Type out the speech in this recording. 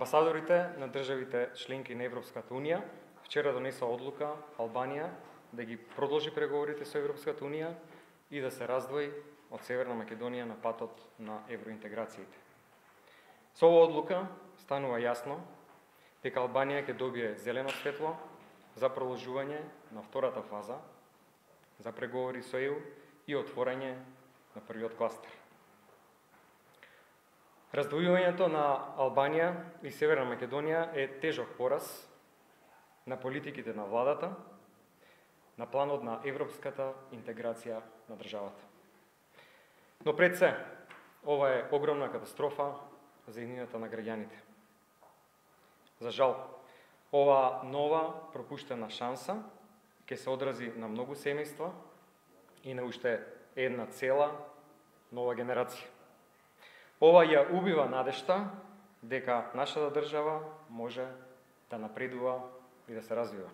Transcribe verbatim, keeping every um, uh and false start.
Амбасадорите на државите членки на Европската Унија вчера донесоа одлука Албанија да ги продолжи преговорите со Европската Унија и да се раздвои од Северна Македонија на патот на евроинтеграциите. Со оваа одлука станува јасно дека Албанија ќе добие зелено светло за продолжување на втората фаза за преговори со Е У и отворање на првиот кластер. Раздвојувањето на Албанија и Северна Македонија е тежок пораз на политиките на владата, на планот на европската интеграција на државата. Но пред се, ова е огромна катастрофа за иднината на граѓаните. За жал, ова нова пропуштена шанса ќе се одрази на многу семејства и на уште една цела нова генерација. Ова ја убива надежта дека нашата држава може да напредува и да се развива.